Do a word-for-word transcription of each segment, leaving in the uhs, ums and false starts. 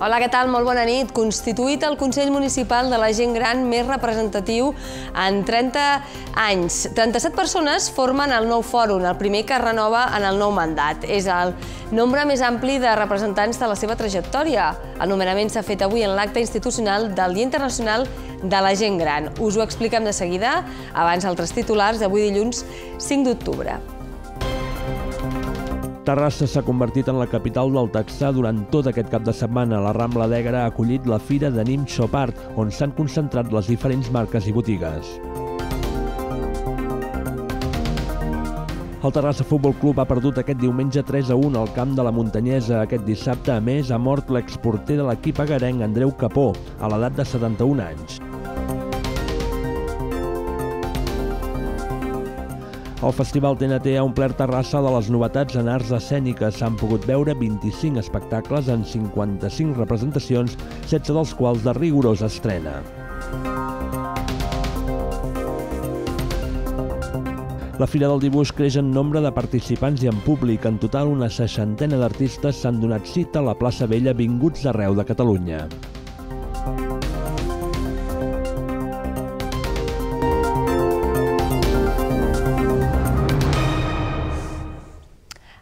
Hola, què tal? Molt bona nit. Constituït el Consell Municipal de la Gent Gran més representatiu en trenta anys. trenta-set persones formen el nou fòrum, el primer que es renova en el nou mandat. És el nombre més ampli de representants de la seva trajectòria. El nomenament s'ha fet avui en l'acte institucional del Dia Internacional de la Gent Gran. Us ho expliquem de seguida, abans altres titulars d'avui dilluns cinc d'octubre. Terrassa s'ha convertit en la capital del Texà durant tot aquest cap de setmana. La Rambla d'Egra ha acollit la Fira de Nim Shop Art, on s'han concentrat les diferents marques i botigues. El Terrassa Futbol Club ha perdut aquest diumenge tres a un al camp de la Muntanyesa. Aquest dissabte, a més, ha mort l'exporter de l'equip agarenc Andreu Capó, a l'edat de setanta-un anys. El Festival T N T ha omplert Terrassa de les novetats en arts escèniques. S'han pogut veure vint-i-cinc espectacles en cinquanta-cinc representacions, setze dels quals de rigorosa estrena. La Fira del Dibuix creix en nombre de participants i en públic. En total, una seixantena d'artistes s'han donat cita a la plaça Vella vinguts d'arreu de Catalunya.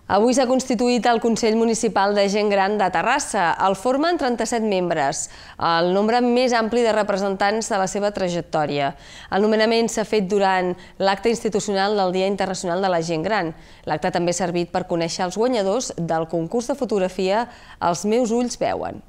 Avui s'ha constituït el Consell Municipal de Gent Gran de Terrassa. El formen trenta-set membres, el nombre més ampli de representants de la seva trajectòria. El nomenament s'ha fet durant l'acte institucional del Dia Internacional de la Gent Gran. L'acte també ha servit per conèixer els guanyadors del concurs de fotografia Els meus ulls veuen.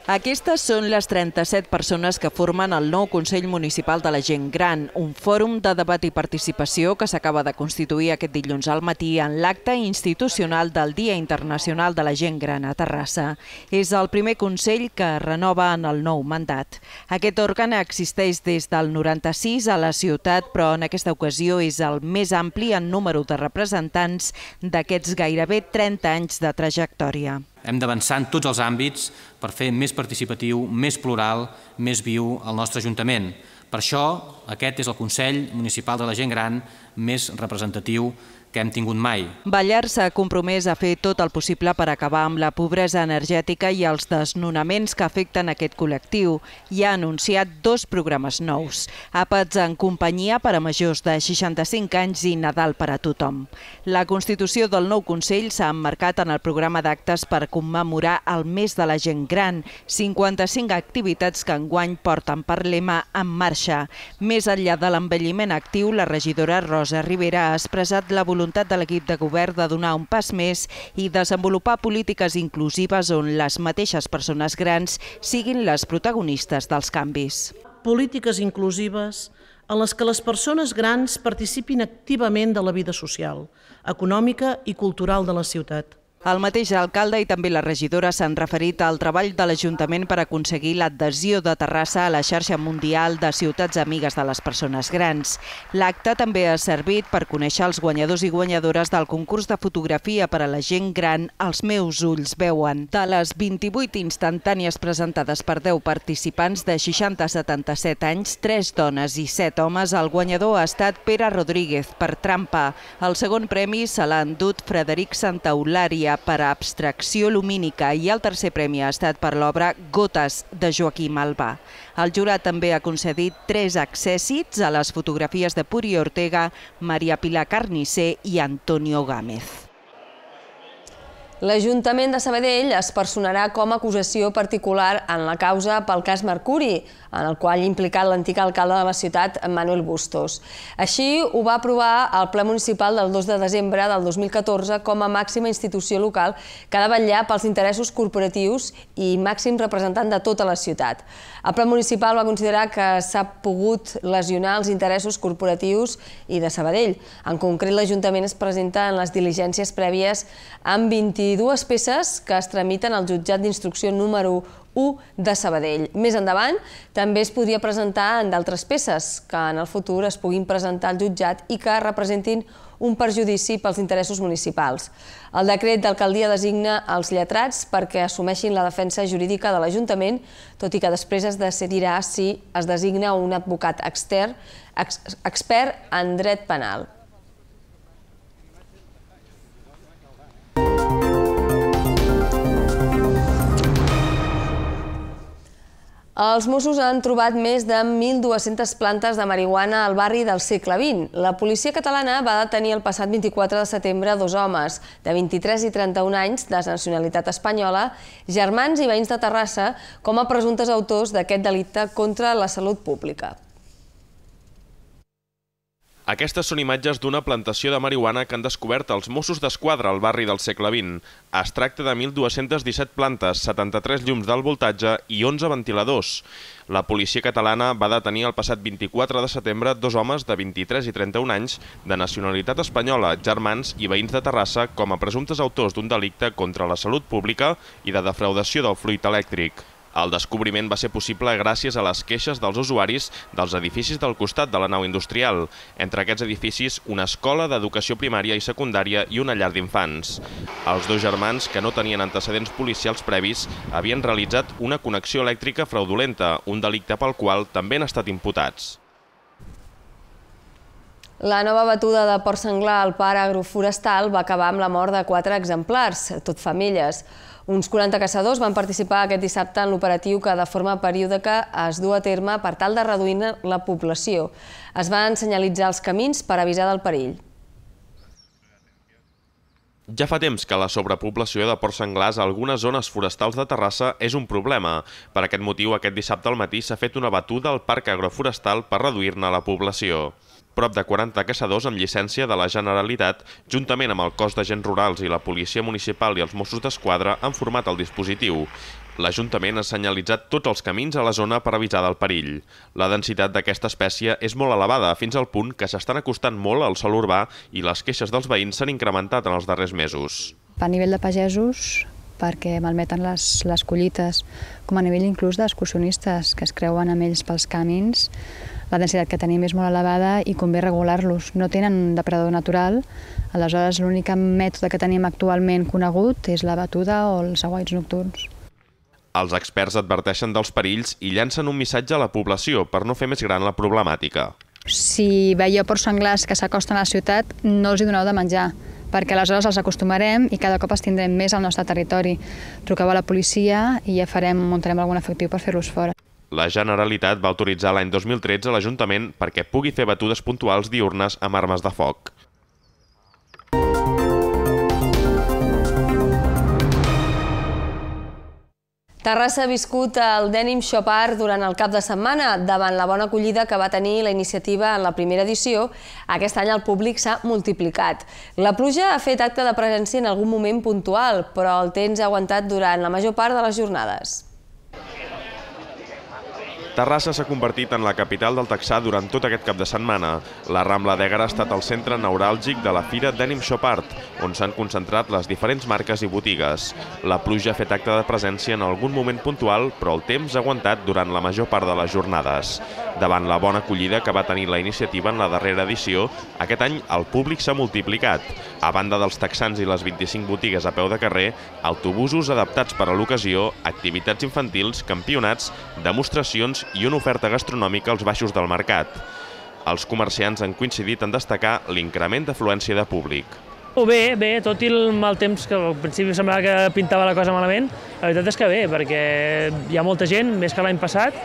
Aquestes són les trenta-set persones que formen el nou Consell Municipal de la Gent Gran, un fòrum de debat i participació que s'acaba de constituir aquest dilluns al matí en l'acte institucional del Dia Internacional de la Gent Gran a Terrassa. És el primer Consell que es renova en el nou mandat. Aquest òrgan existeix des del noranta-sis a la ciutat, però en aquesta ocasió és el més ampli en número de representants d'aquests gairebé trenta anys de trajectòria. Hem d'avançar en tots els àmbits per fer més participatiu, més plural, més viu el nostre Ajuntament. Per això, aquest és el Consell Municipal de la Gent Gran més representatiu que hem tingut mai. Ballar s'ha compromès a fer tot el possible per acabar amb la pobresa energètica i els desnonaments que afecten aquest col·lectiu i ha anunciat dos programes nous: àpats en companyia per a majors de seixanta-cinc anys i Nadal per a tothom. La constitució del nou Consell s'ha emmarcat en el programa d'actes per commemorar el mes de la gent gran, cinquanta-cinc activitats que enguany porten per lema En marxa. Més enllà de l'envelliment actiu, la regidora Rosa Rivera ha expressat la voluntat de l'equip de govern de donar un pas més i desenvolupar polítiques inclusives on les mateixes persones grans siguin les protagonistes dels canvis. Polítiques inclusives en les que les persones grans participin activament de la vida social, econòmica i cultural de la ciutat. El mateix alcalde i també la regidora s'han referit al treball de l'Ajuntament per aconseguir l'adhesió de Terrassa a la xarxa mundial de ciutats amigues de les persones grans. L'acte també ha servit per conèixer els guanyadors i guanyadores del concurs de fotografia per a la gent gran Els meus ulls veuen. De les vint-i-vuit instantànies presentades per deu participants de seixanta a setanta-set anys, tres dones i set homes, el guanyador ha estat Pere Rodríguez per Trampa. El segon premi se l'ha endut Frederic Santaeulària per a abstracció lumínica i el tercer premi ha estat per l'obra Gotes de Joaquim Albà. El jurat també ha concedit tres accèssits a les fotografies de Puri Ortega, Maria Pilar Carnicer i Antonio Gámez. L'Ajuntament de Sabadell es personarà com a acusació particular en la causa pel cas Mercuri, en el qual ha implicat l'antic alcalde de la ciutat, Manuel Bustos. Així ho va aprovar el ple municipal del dos de desembre del dos mil catorze com a màxima institució local que ha de vetllar pels interessos corporatius i màxim representant de tota la ciutat. El ple municipal va considerar que s'ha pogut lesionar els interessos corporatius i de Sabadell. En concret, l'Ajuntament es presenta en les diligències prèvies amb vint-i-dues peces que es tramiten al jutjat d'instrucció número u de Sabadell. Més endavant, també es podria presentar en d'altres peces que en el futur es puguin presentar al jutjat i que representin un perjudici pels interessos municipals. El decret d'alcaldia designa els lletrats perquè assumeixin la defensa jurídica de l'Ajuntament, tot i que després es decidirà si es designa un advocat extern expert en dret penal. Els Mossos han trobat més de mil dues-centes plantes de marihuana al barri del segle vint. La policia catalana va detenir el passat vint-i-quatre de setembre dos homes de vint-i-tres i trenta-un anys de nacionalitat espanyola, germans i veïns de Terrassa, com a presumptes autors d'aquest delicte contra la salut pública. Aquestes són imatges d'una plantació de marihuana que han descobert els Mossos d'Esquadra al barri del segle vint. Es tracta de mil dues-centes disset plantes, setanta-tres llums d'alt voltatge i onze ventiladors. La policia catalana va detenir el passat vint-i-quatre de setembre dos homes de vint-i-tres i trenta-un anys de nacionalitat espanyola, germans i veïns de Terrassa com a presumptes autors d'un delicte contra la salut pública i de defraudació del fluid elèctric. El descobriment va ser possible gràcies a les queixes dels usuaris dels edificis del costat de la nau industrial. Entre aquests edificis, una escola d'educació primària i secundària i una llar d'infants. Els dos germans, que no tenien antecedents policials previs, havien realitzat una connexió elèctrica fraudulenta, un delicte pel qual també han estat imputats. La nova batuda de porc senglar al parc agroforestal va acabar amb la mort de quatre exemplars, tot femelles. Uns quaranta caçadors van participar aquest dissabte en l'operatiu que de forma periòdica es du a terme per tal de reduir la població. Es van senyalitzar els camins per avisar del perill. Ja fa temps que la sobrepoblació de porcs senglars a algunes zones forestals de Terrassa és un problema. Per aquest motiu, aquest dissabte al matí s'ha fet una batuda al parc agroforestal per reduir-ne la població. Prop de quaranta caçadors amb llicència de la Generalitat, juntament amb el cos d'agents rurals i la policia municipal i els Mossos d'Esquadra, han format el dispositiu. L'Ajuntament ha senyalitzat tots els camins a la zona per avisar del perill. La densitat d'aquesta espècie és molt elevada, fins al punt que s'estan acostant molt al sòl urbà i les queixes dels veïns s'han incrementat en els darrers mesos. A nivell de pagesos, perquè malmeten les, les collites, com a nivell inclús d'excursionistes que es creuen amb ells pels camins, la densitat que tenim és molt elevada i convé regular-los. No tenen depredador natural, aleshores l'únic mètode que tenim actualment conegut és la batuda o els aguaits nocturns. Els experts adverteixen dels perills i llancen un missatge a la població per no fer més gran la problemàtica. Si veieu porcs senglars que s'acosten a la ciutat, no els hi doneu de menjar, perquè aleshores els acostumarem i cada cop els tindrem més al nostre territori. Truqueu a la policia i ja farem, muntarem algun efectiu per fer-los fora. La Generalitat va autoritzar l'any dos mil tretze a l'Ajuntament perquè pugui fer batudes puntuals diürnes amb armes de foc. Terrassa ha viscut el Denim Shop Art durant el cap de setmana. Davant la bona acollida que va tenir la iniciativa en la primera edició, aquest any el públic s'ha multiplicat. La pluja ha fet acte de presència en algun moment puntual, però el temps ha aguantat durant la major part de les jornades. Terrassa s'ha convertit en la capital del texà durant tot aquest cap de setmana. La Rambla d'Ègara ha estat el centre neuràlgic de la fira Denim Shop Art, on s'han concentrat les diferents marques i botigues. La pluja ha fet acte de presència en algun moment puntual, però el temps ha aguantat durant la major part de les jornades. Davant la bona acollida que va tenir la iniciativa en la darrera edició, aquest any el públic s'ha multiplicat. A banda dels texans i les vint-i-cinc botigues a peu de carrer, autobusos adaptats per a l'ocasió, activitats infantils, campionats, demostracions i una oferta gastronòmica als baixos del mercat. Els comerciants han coincidit en destacar l'increment d'afluència de públic. Bé, bé, tot i el mal temps, que al principi semblava que pintava la cosa malament, la veritat és que bé, perquè hi ha molta gent, més que l'any passat,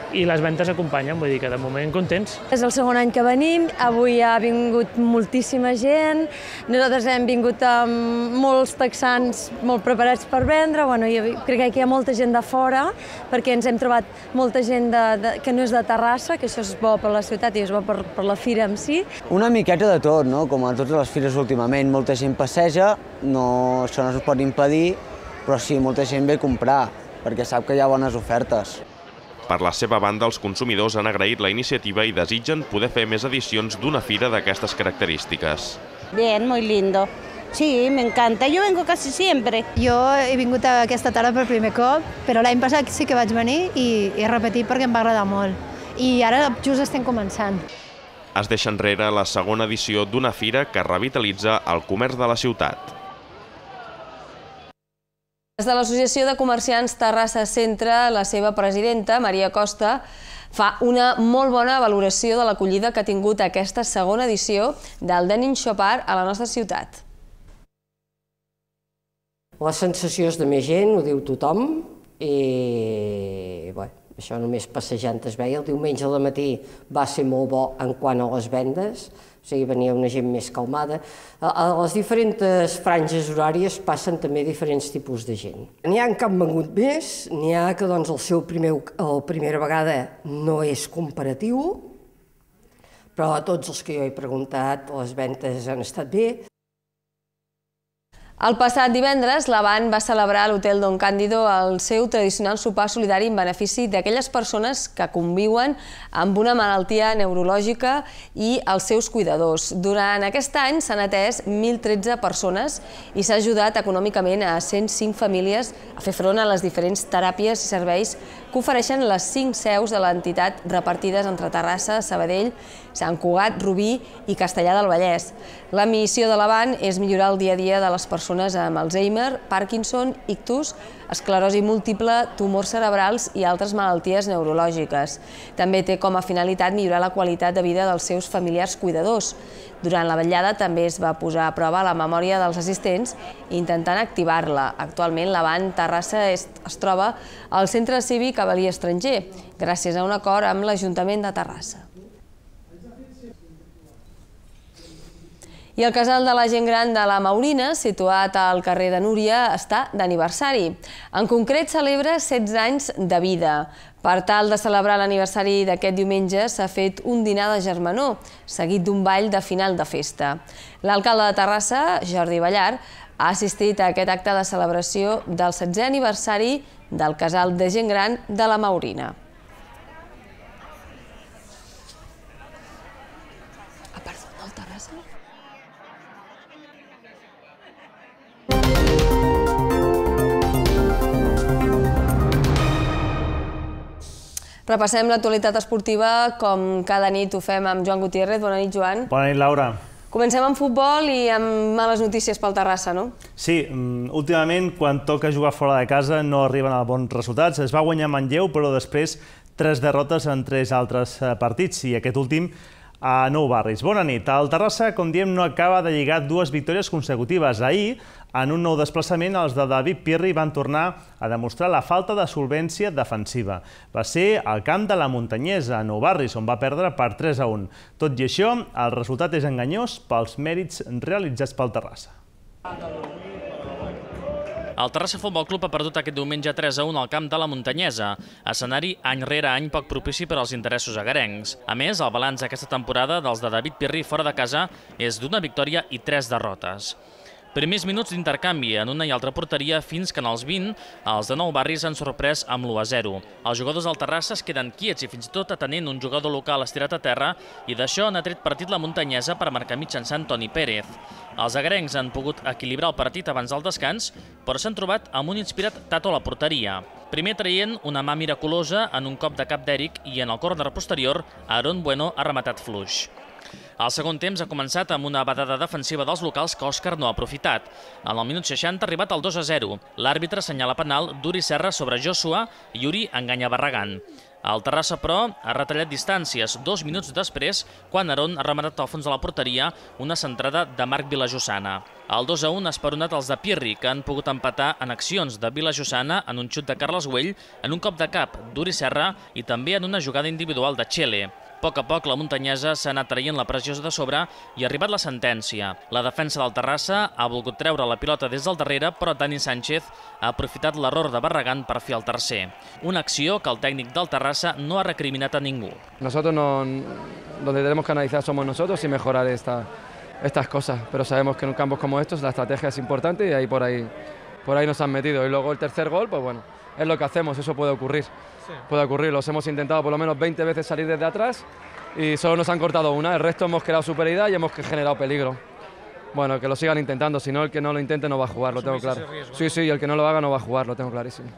i les ventes acompanyen, vull dir que de moment contents. És el segon any que venim, avui ha vingut moltíssima gent, nosaltres hem vingut amb molts texans molt preparats per vendre, bueno, jo crec que hi ha molta gent de fora, perquè ens hem trobat molta gent de, de, que no és de Terrassa, que això és bo per la ciutat i és bo per, per la fira en si. Una miqueta de tot, no? Com a totes les fires últimament, molta gent passeja, no, això no es pot impedir, però sí, molta gent ve a comprar, perquè sap que hi ha bones ofertes. Per la seva banda, els consumidors han agraït la iniciativa i desitgen poder fer més edicions d'una fira d'aquestes característiques. Bien, muy lindo. Sí, me encanta. Yo vengo casi siempre. Jo he vingut aquesta tarda per primer cop, però l'any passat sí que vaig venir i he repetit perquè em va agradar molt. I ara just estem començant. Es deixa enrere la segona edició d'una fira que revitalitza el comerç de la ciutat. Des de l'Associació de Comerciants Terrassa Centre, la seva presidenta, Maria Costa, fa una molt bona valoració de l'acollida que ha tingut aquesta segona edició del Denim Shop Art a la nostra ciutat. La sensació és de més gent, ho diu tothom, i bé, Això només passejant es veia. El diumenge al matí va ser molt bo en quant a les vendes, o sigui, venia una gent més calmada. A les diferents franges horàries passen també diferents tipus de gent. N'hi ha que han vengut més, n'hi ha que doncs, el seu primer, la primera vegada no és comparatiu, però a tots els que jo he preguntat les vendes han estat bé. El passat divendres, l'Avant va celebrar a l'Hotel Don Cándido el seu tradicional sopar solidari en benefici d'aquelles persones que conviuen amb una malaltia neurològica i els seus cuidadors. Durant aquest any s'han atès mil tretze persones i s'ha ajudat econòmicament a cent cinc famílies a fer front a les diferents teràpies i serveis que ofereixen les cinc seus de l'entitat repartides entre Terrassa, Sabadell, Sant Cugat, Rubí i Castellar del Vallès. La missió de l'Avant és millorar el dia a dia de les persones amb Alzheimer, Parkinson, ictus, esclerosi múltiple, tumors cerebrals i altres malalties neurològiques. També té com a finalitat millorar la qualitat de vida dels seus familiars cuidadors. Durant la vetllada també es va posar a prova la memòria dels assistents intentant activar-la. Actualment l'Avant Terrassa es troba al Centre Cívic Avel·lí Estranger, gràcies a un acord amb l'Ajuntament de Terrassa. I el casal de la gent gran de la Maurina, situat al carrer de Núria, està d'aniversari. En concret, celebra setze anys de vida. Per tal de celebrar l'aniversari d'aquest diumenge s'ha fet un dinar de germanor, seguit d'un ball de final de festa. L'alcalde de Terrassa, Jordi Ballar, ha assistit a aquest acte de celebració del setzè aniversari del casal de gent gran de la Maurina. Repassem l'actualitat esportiva, com cada nit ho fem amb Joan Gutiérrez. Bona nit, Joan. Bona nit, Laura. Comencem amb futbol i amb males notícies pel Terrassa, no? Sí, últimament, quan toca jugar fora de casa, no arriben a bons resultats. Es va guanyar Manlleu, però després tres derrotes en tres altres partits, i aquest últim a Nou Barris. Bona nit. El Terrassa, com diem, no acaba de lligar dues victòries consecutives. Ahir, en un nou desplaçament, els de David Pirri van tornar a demostrar la falta de solvència defensiva. Va ser al camp de la Muntanyesa, a Nou Barris, on va perdre per tres a un. Tot i això, el resultat és enganyós pels mèrits realitzats pel Terrassa. El Terrassa Futbol Club ha perdut aquest diumenge tres a un al camp de la Muntanyesa, escenari any rere any poc propici per als interessos agarencs. A més, el balanç d'aquesta temporada dels de David Pirri fora de casa és d'una victòria i tres derrotes. Primers minuts d'intercanvi en una i altra porteria fins que en els vint els de Nou Barris han sorprès amb l'u a zero. Els jugadors del Terrassa es queden quiets i fins i tot atenent un jugador local estirat a terra, i d'això n'ha tret partit la Muntanyesa per marcar mitjançant Toni Pérez. Els agarencs han pogut equilibrar el partit abans del descans, però s'han trobat amb un inspirat Tato a la porteria. Primer traient una mà miraculosa en un cop de cap d'Eric, i en el córner posterior Aaron Bueno ha rematat fluix. El segon temps ha començat amb una badada defensiva dels locals que Òscar no ha aprofitat. En el minut seixanta ha arribat al dos a zero. L'àrbitre assenyala penal d'Uri Serra sobre Joshua i Uri enganya Barragán. El Terrassa, però, ha retallat distàncies dos minuts després, quan Aaron ha rematat al fons de la porteria una centrada de Marc Vilajossana. El dos a un ha esperonat els de Pirri, que han pogut empatar en accions de Vilajossana, en un xut de Carles Güell, en un cop de cap d'Uri Serra i també en una jugada individual de Txele. A poc a poc, la Muntanyesa s'ha anat traient la pressió de sobre i ha arribat la sentència. La defensa del Terrassa ha volgut treure la pilota des del darrere, però Dani Sánchez ha aprofitat l'error de Barragán per fer el tercer. Una acció que el tècnic del Terrassa no ha recriminat a ningú. Nosotros no, donde tenemos que analizar somos nosotros y mejorar esta, estas cosas, pero sabemos que en campos como estos la estrategia es importante y ahí por ahí, por ahí nos han metido. Y luego el tercer gol, pues bueno, es lo que hacemos, eso puede ocurrir. Puede ocurrir, los hemos intentado por lo menos veinte veces salir desde atrás y solo nos han cortado una, el resto hemos creado superioridad y hemos generado peligro. Bueno, que lo sigan intentando, si no el que no lo intente no va a jugar, lo tengo claro. Sí, sí, el que no lo haga no va a jugar, lo tengo clarísimo.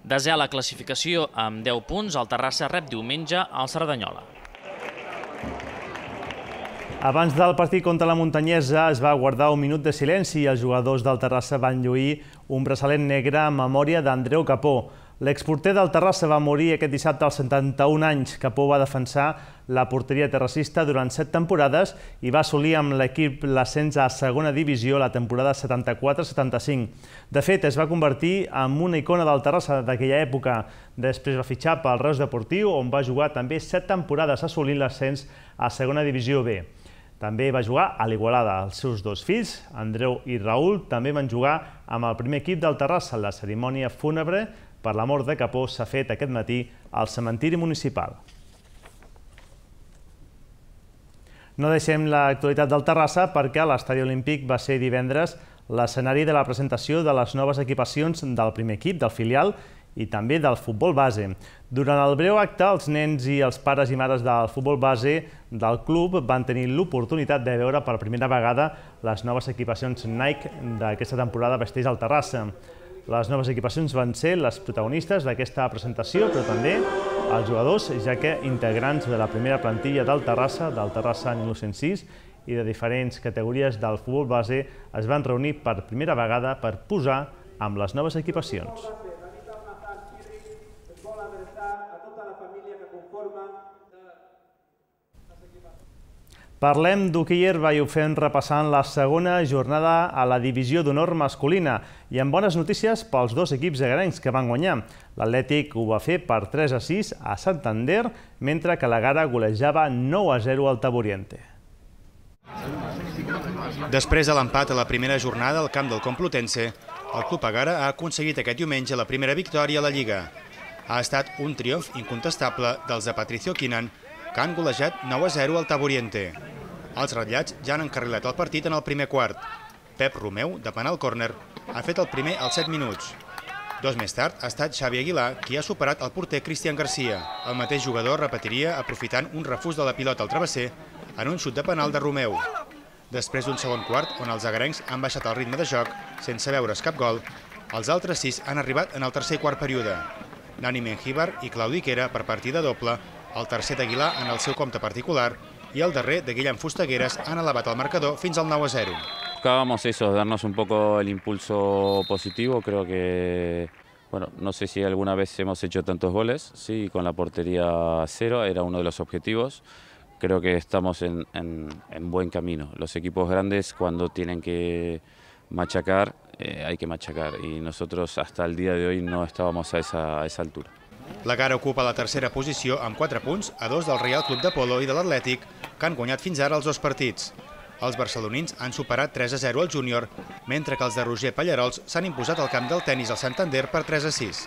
Desè a la classificació amb deu punts, el Terrassa rep diumenge al Cerdanyola. Abans del partit contra la Muntanyesa es va guardar un minut de silenci i els jugadors del Terrassa van lluir un braçalet negre en memòria d'Andreu Capó. L'exporter del Terrassa va morir aquest dissabte als setanta-un anys. Capó va defensar la porteria terrassista durant set temporades i va assolir amb l'equip l'ascens a segona divisió la temporada setanta-quatre setanta-cinc. De fet, es va convertir en una icona del Terrassa d'aquella època. Després va fitxar pel Reus Deportiu, on va jugar també set temporades assolint l'ascens a segona divisió B. També va jugar a l'Igualada. Els seus dos fills, Andreu i Raül, també van jugar amb el primer equip del Terrassa. La cerimònia fúnebre per la mort de Capó s'ha fet aquest matí al cementiri municipal. No deixem l'actualitat del Terrassa perquè l'Estadi Olímpic va ser divendres l'escenari de la presentació de les noves equipacions del primer equip, del filial, i també del futbol base. Durant el breu acte, els nens i els pares i mares del futbol base del club van tenir l'oportunitat de veure per primera vegada les noves equipacions Nike d'aquesta temporada vestits al Terrassa. Les noves equipacions van ser les protagonistes d'aquesta presentació, però també els jugadors, ja que integrants de la primera plantilla del Terrassa, del Terrassa mil nou-cents sis, i de diferents categories del futbol base es van reunir per primera vegada per posar amb les noves equipacions. Parlem d'hoquei herba i ho fem repassant la segona jornada a la divisió d'honor masculina i amb bones notícies pels dos equips egarencs que van guanyar. L'Atlètic ho va fer per tres a sis a Santander, mentre que la Gara golejava nou a zero al Taburiente. Després de l'empat a la primera jornada al camp del Complutense, el Club Egara ha aconseguit aquest diumenge la primera victòria a la Lliga. Ha estat un triomf incontestable dels de Patricio Quinan, que han golejat nou a zero al Taburiente. Els ratllats ja han encarrilat el partit en el primer quart. Pep Romeu, de penal córner, ha fet el primer als set minuts. Dos més tard ha estat Xavi Aguilar qui ha superat el porter Cristian Garcia. El mateix jugador repetiria aprofitant un refús de la pilota al travesser en un xut de penal de Romeu. Després d'un segon quart on els agarencs han baixat el ritme de joc sense veure's cap gol, els altres sis han arribat en el tercer i quart període. Nani Mengíbar i Claudi Quera per partida doble, el tercer d'Aguilar en el seu compte particular i el darrer de Guillem Fustagueres han elevat el marcador fins al nou a zero. Buscábamos eso, darnos un poco el impulso positivo. Creo que, bueno, no sé si alguna vez hemos hecho tantos goles, sí, con la portería cero, era uno de los objetivos. Creo que estamos en, en, en buen camino. Los equipos grandes cuando tienen que machacar, eh, hay que machacar y nosotros hasta el día de hoy no estábamos a esa, a esa altura. La Gara ocupa la tercera posició amb quatre punts a dos del Real Club de Polo i de l'Atlètic, que han guanyat fins ara els dos partits. Els barcelonins han superat tres a zero al júnior, mentre que els de Roger Pallarols s'han imposat al camp del tenis al Santander per tres a sis.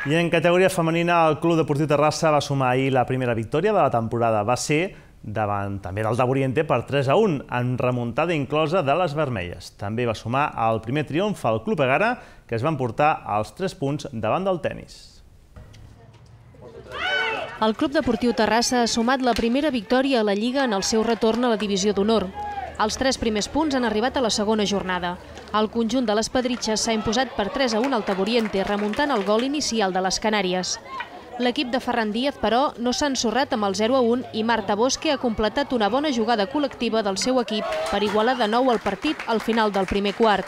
I en categoria femenina, el Club Deportiu Terrassa va sumar ahir la primera victòria de la temporada. Va ser davant també del Taburiente per tres a un, en remuntada inclosa de les vermelles. També va sumar el primer triomf al Club Egara, que es van portar els tres punts davant del tenis. El Club Deportiu Terrassa ha sumat la primera victòria a la Lliga en el seu retorn a la divisió d'honor. Els tres primers punts han arribat a la segona jornada. El conjunt de les Pedritxes s'ha imposat per tres a un al Taburiente, remuntant el gol inicial de les Canàries. L'equip de Ferran Díaz, però, no s'ha ensorrat amb el zero a un i Marta Bosque ha completat una bona jugada col·lectiva del seu equip per igualar de nou el partit al final del primer quart.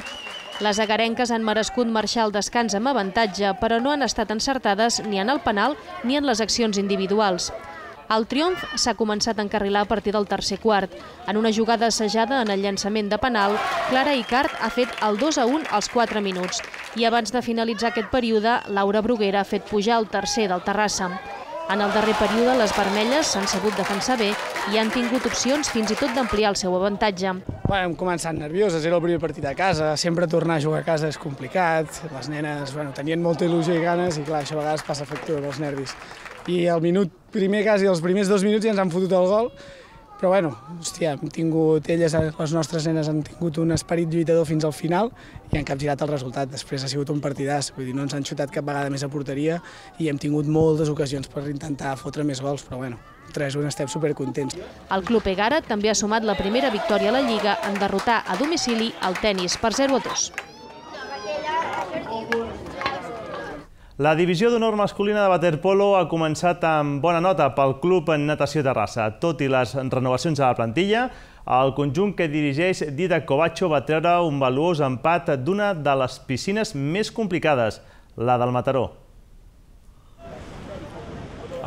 Les agarenques han merescut marxar al descans amb avantatge, però no han estat encertades ni en el penal ni en les accions individuals. El triomf s'ha començat a encarrilar a partir del tercer quart. En una jugada assajada en el llançament de penal, Clara Icart ha fet el dos a un als quatre minuts. I abans de finalitzar aquest període, Laura Bruguera ha fet pujar el tercer del Terrassa. En el darrer període, les vermelles s'han sabut defensar bé i han tingut opcions fins i tot d'ampliar el seu avantatge. Hem començat nervioses, era el primer partit a casa, sempre tornar a jugar a casa és complicat, les nenes tenien molta il·lusió i ganes i clar, això a vegades passa factura dels nervis. I al minut primer, quasi els primers dos minuts ja ens han fotut el gol, però bueno, hòstia, hem tingut, elles, les nostres nenes han tingut un esperit lluitador fins al final i han capgirat el resultat. Després ha sigut un partidàs, vull dir, no ens han xutat cap vegada més a porteria i hem tingut moltes ocasions per intentar fotre més gols, però bueno, tres a un estem supercontents. El Club Egara també ha sumat la primera victòria a la Lliga en derrotar a domicili el tenis per zero a dos. La divisió d'honor masculina de waterpolo ha començat amb bona nota pel Club Natació Terrassa. Tot i les renovacions a la plantilla, el conjunt que dirigeix Didac Covacho va treure un valuós empat d'una de les piscines més complicades, la del Mataró.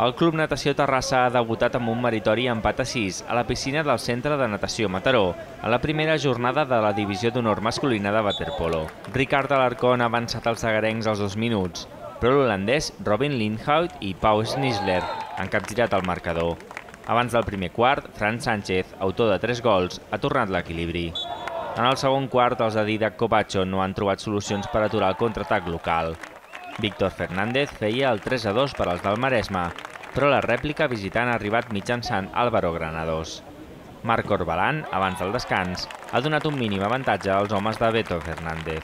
El Club Natació Terrassa ha debutat amb un meritori empat a sis a la piscina del Centre de Natació Mataró, a la primera jornada de la Divisió d'Honor masculina de waterpolo. Ricard Alarcón ha avançat els agarencs als dos minuts, però l'holandès Robin Lindhout i Pau Schnitzler han capgirat el marcador. Abans del primer quart, Fran Sánchez, autor de tres gols, ha tornat l'equilibri. En el segon quart, els de Didac Covacho no han trobat solucions per aturar el contraatac local. Víctor Fernández feia el tres a dos per als del Maresme, però la rèplica visitant ha arribat mitjançant Álvaro Granados. Marc Orbalan, abans del descans, ha donat un mínim avantatge als homes de Beto Fernández.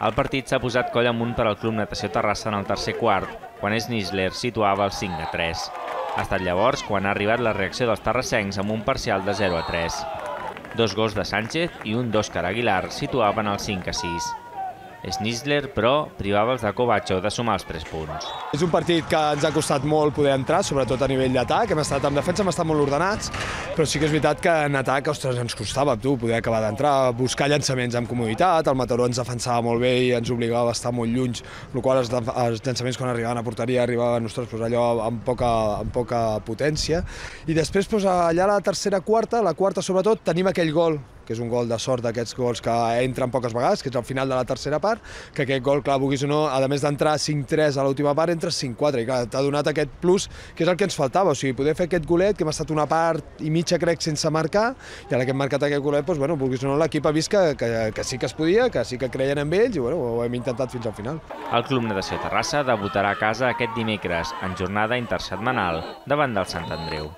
El partit s'ha posat coll amunt per al Club Natació Terrassa en el tercer quart, quan Schnitzler situava el cinc a tres. Ha estat llavors quan ha arribat la reacció dels terrassencs amb un parcial de zero a tres. Dos gols de Sánchez i un d'Òscar Aguilar situaven el cinc a sis. Schnitzler, però, privava els de Covacho de sumar els tres punts. És un partit que ens ha costat molt poder entrar, sobretot a nivell d'atac. Hem estat en defensa, hem estat molt ordenats, però sí que és veritat que en atac, ostres, ens costava tu, poder acabar d'entrar, buscar llançaments amb comoditat. El Mataró ens defensava molt bé i ens obligava a estar molt lluny, el qual els, els llançaments quan arribaven a porteria arribaven, ostres, pues allò amb poca, amb poca potència. I després, pues, allà a la tercera quarta, la quarta sobretot, tenim aquell gol, que és un gol de sort d'aquests gols que entren poques vegades, que és al final de la tercera part, que aquest gol, clar, vulguis o no, a més d'entrar cinc tres a l'última part, entres cinc quatre, i clar, t'ha donat aquest plus, que és el que ens faltava, o sigui, poder fer aquest golet, que hem estat una part i mitja, crec, sense marcar, i ara que hem marcat aquest golet, doncs, bueno, vulguis o no, l'equip ha vist que, que, que sí que es podia, que sí que creien en ells, i bueno, ho hem intentat fins al final. El Club Natació Terrassa debutarà a casa aquest dimecres, en jornada intersetmanal, davant del Sant Andreu.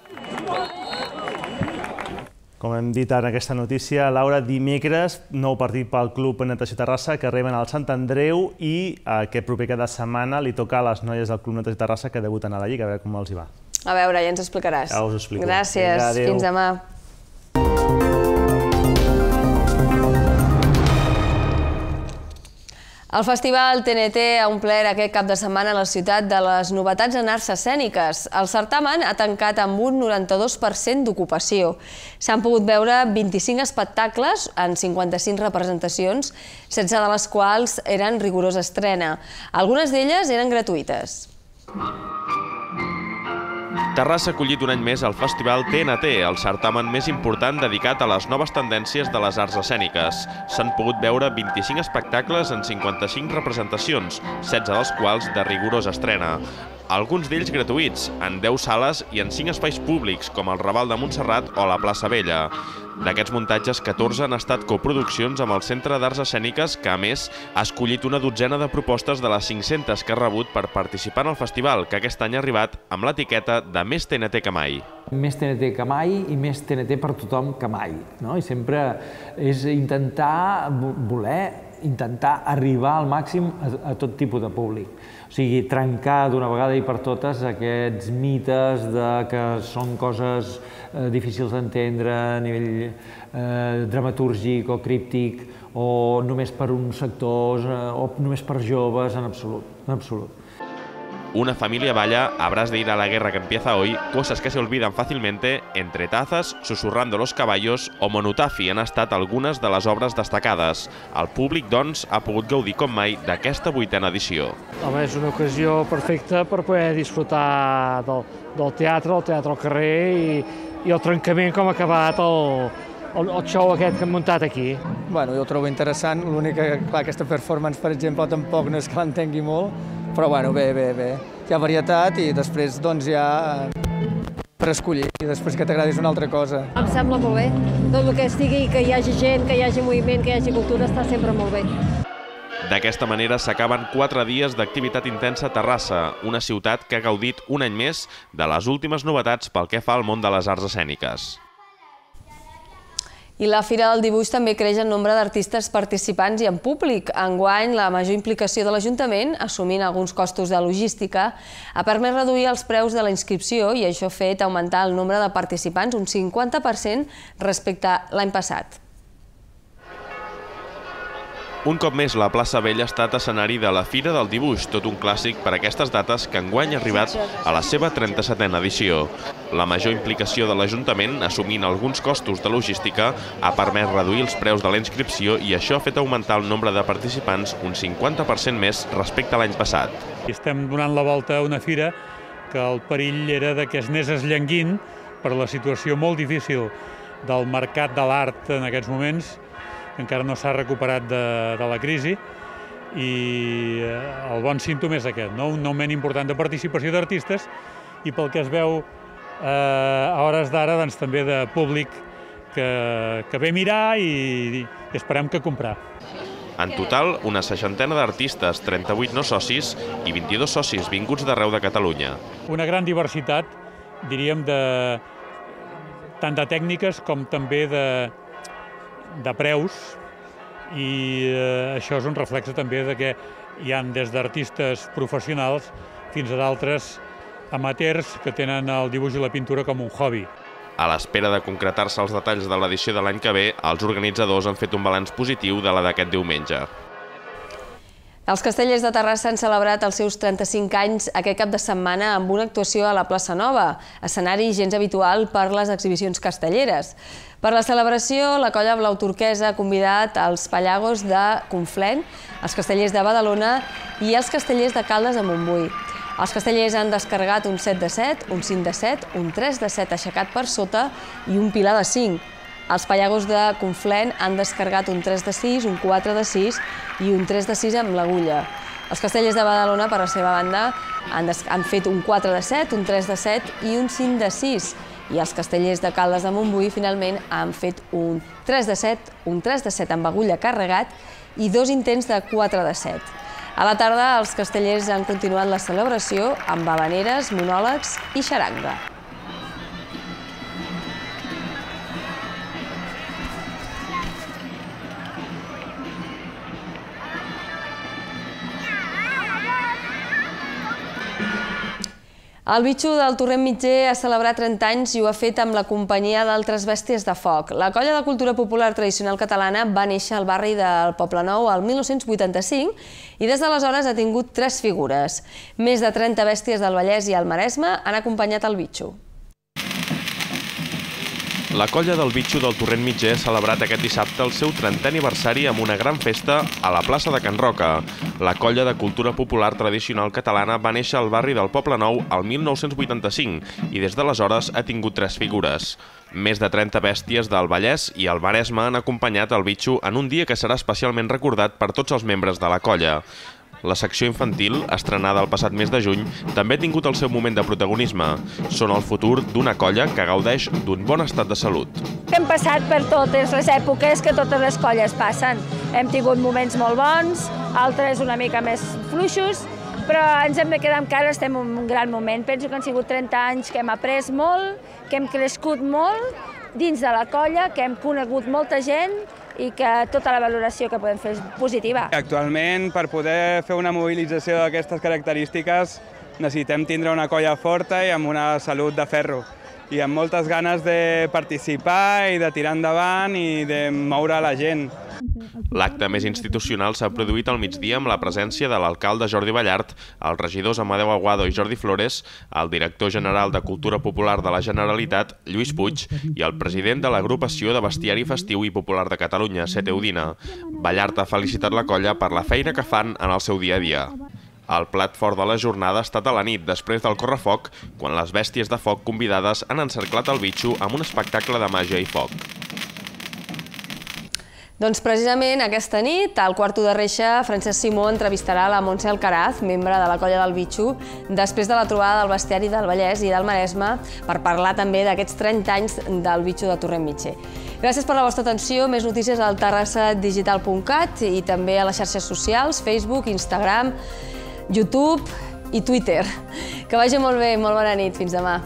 Com hem dit en aquesta notícia, Laura, dimecres, nou partit pel Club Natació Terrassa, que reben al Sant Andreu i aquest proper cada setmana li toca a les noies del Club Natació Terrassa que debuten a la Lliga, a veure com els hi va. A veure, ja ens explicaràs. Ja us ho explico. Gràcies, Vinga, adéu. Fins demà. El Festival T N T ha omplert aquest cap de setmana a la ciutat de les novetats en arts escèniques. El certamen ha tancat amb un noranta-dos per cent d'ocupació. S'han pogut veure vint-i-cinc espectacles en cinquanta-cinc representacions, setze de les quals eren rigorosa estrena. Algunes d'elles eren gratuïtes. Terrassa ha acollit un any més el Festival T N T, el certamen més important dedicat a les noves tendències de les arts escèniques. S'han pogut veure vint-i-cinc espectacles en cinquanta-cinc representacions, setze dels quals de rigorosa estrena. Alguns d'ells gratuïts, en deu sales i en cinc espais públics, com el Raval de Montserrat o la Plaça Vella. D'aquests muntatges, catorze han estat coproduccions amb el Centre d'Arts Escèniques, que, a més, ha escollit una dotzena de propostes de les cinc-centes que ha rebut per participar en el festival, que aquest any ha arribat amb l'etiqueta de més T N T que mai. Més T N T que mai i més T N T per tothom que mai. I sempre és intentar voler intentar arribar al màxim a tot tipus de públic. O sigui, trencar d'una vegada i per totes aquests mites que són coses difícils d'entendre a nivell dramatúrgic o críptic o només per uns sectors o només per joves, en absolut, en absolut. Una familia balla, habrás de ir a la guerra que empieza hoy, cosas que se olvidan fácilmente, Entre tazas, Susurrando los caballos o Monutafi han estat algunes de les obres destacades. El públic, doncs, ha pogut gaudir com mai d'aquesta vuitena edició. Home, és una ocasió perfecta per poder disfrutar del, del teatre, el teatre al carrer i, i el trencament com ha acabat el, el, el show aquest que hem muntat aquí. Bueno, jo ho trobo interessant, l'únic que, clar, aquesta performance, per exemple, tampoc no és que l'entengui molt, però bueno, bé, bé, bé. Hi ha varietat i després doncs hi ha per escollir i després que t'agradis una altra cosa. Em sembla molt bé. Tot el que estigui, que hi hagi gent, que hi hagi moviment, que hi hagi cultura, està sempre molt bé. D'aquesta manera s'acaben quatre dies d'activitat intensa a Terrassa, una ciutat que ha gaudit un any més de les últimes novetats pel que fa al món de les arts escèniques. I la Fira del Dibuix també creix en nombre d'artistes participants i en públic. Enguany, la major implicació de l'Ajuntament, assumint alguns costos de logística, ha permès reduir els preus de la inscripció i això ha fet augmentar el nombre de participants un cinquanta per cent respecte a l'any passat. Un cop més, la plaça Vella ha estat escenari de la Fira del Dibuix, tot un clàssic per a aquestes dates que enguany ha arribat a la seva trenta-setena edició. La major implicació de l'Ajuntament, assumint alguns costos de logística, ha permès reduir els preus de la inscripció i això ha fet augmentar el nombre de participants un cinquanta per cent més respecte a l'any passat. Estem donant la volta a una fira que el perill era que es anés esllenguint per la situació molt difícil del mercat de l'art en aquests moments, que encara no s'ha recuperat de, de la crisi, i el bon símptoma és aquest, no? Un augment important de participació d'artistes i pel que es veu eh, a hores d'ara doncs, també de públic que, que ve a mirar i, i esperem que comprar. En total, una seixantena d'artistes, trenta-vuit no socis i vint-i-dos socis vinguts d'arreu de Catalunya. Una gran diversitat, diríem, de, tant de tècniques com també de, de preus, i eh, això és un reflex també de que hi ha des d'artistes professionals fins a d'altres amateurs que tenen el dibuix i la pintura com un hobby. A l'espera de concretar-se els detalls de l'edició de l'any que ve, els organitzadors han fet un balanç positiu de la d'aquest diumenge. Els Castellers de Terrassa han celebrat els seus trenta-cinc anys aquest cap de setmana amb una actuació a la Plaça Nova, escenari gens habitual per les exhibicions castelleres. Per la celebració, la colla blau turquesa ha convidat els Pallagos de Conflent, els Castellers de Badalona i els Castellers de Caldes de Montbui. Els castellers han descarregat un set de set, un cinc de set, un tres de set aixecat per sota i un pilar de cinc. Els Pallagos de Conflent han descarregat un tres de sis, un quatre de sis i un tres de sis amb l'agulla. Els Castellers de Badalona, per la seva banda, han, han fet un quatre de set, un tres de set i un cinc de sis. I els Castellers de Caldes de Montbui, finalment, han fet un tres de set, un tres de set amb agulla carregat i dos intents de quatre de set. A la tarda, els castellers han continuat la celebració amb havaneres, monòlegs i xaranga. El Bitxo del Torrent Mitger ha celebrat trenta anys i ho ha fet amb la companyia d'altres bèsties de foc. La colla de cultura popular tradicional catalana va néixer al barri del Poblenou el mil nou-cents vuitanta-cinc i des d'aleshores ha tingut tres figures. Més de trenta bèsties del Vallès i el Maresme han acompanyat el Bitxo. La colla del Bitxo del Torrent Mitger ha celebrat aquest dissabte el seu trentè aniversari amb una gran festa a la plaça de Can Roca. La colla de cultura popular tradicional catalana va néixer al barri del Poblenou el mil nou-cents vuitanta-cinc i des d'aleshores ha tingut tres figures. Més de trenta bèsties del Vallès i el Maresme han acompanyat el Bitxo en un dia que serà especialment recordat per tots els membres de la colla. La secció infantil, estrenada el passat mes de juny, també ha tingut el seu moment de protagonisme. Són el futur d'una colla que gaudeix d'un bon estat de salut. Hem passat per totes les èpoques que totes les colles passen. Hem tingut moments molt bons, altres una mica més fluixos, però ens hem de quedar amb que ara estem en un gran moment. Penso que han sigut trenta anys que hem après molt, que hem crescut molt dins de la colla, que hem conegut molta gent i que tota la valoració que podem fer és positiva. Actualment, per poder fer una mobilització d'aquestes característiques, necessitem tindre una colla forta i amb una salut de ferro, i amb moltes ganes de participar i de tirar endavant i de moure la gent. L'acte més institucional s'ha produït al migdia amb la presència de l'alcalde Jordi Ballart, els regidors Amadeu Aguado i Jordi Flores, el director general de Cultura Popular de la Generalitat, Lluís Puig, i el president de l'agrupació de bestiari festiu i popular de Catalunya, Sete Udina. Ballart ha felicitat la colla per la feina que fan en el seu dia a dia. El plat fort de la jornada ha estat a la nit, després del correfoc, quan les bèsties de foc convidades han encerclat el Bitxo amb un espectacle de màgia i foc. Doncs precisament aquesta nit, al quarto de reixa, Francesc Simó entrevistarà la Montse Alcaraz, membre de la colla del Bitxo, després de la trobada del bestiari del Vallès i del Maresme, per parlar també d'aquests trenta anys del Bitxo de Torrent Mitger. Gràcies per la vostra atenció. Més notícies al terrassa digital punt cat i també a les xarxes socials, Facebook, Instagram, YouTube i Twitter. Que vagi molt bé, molt bona nit. Fins demà.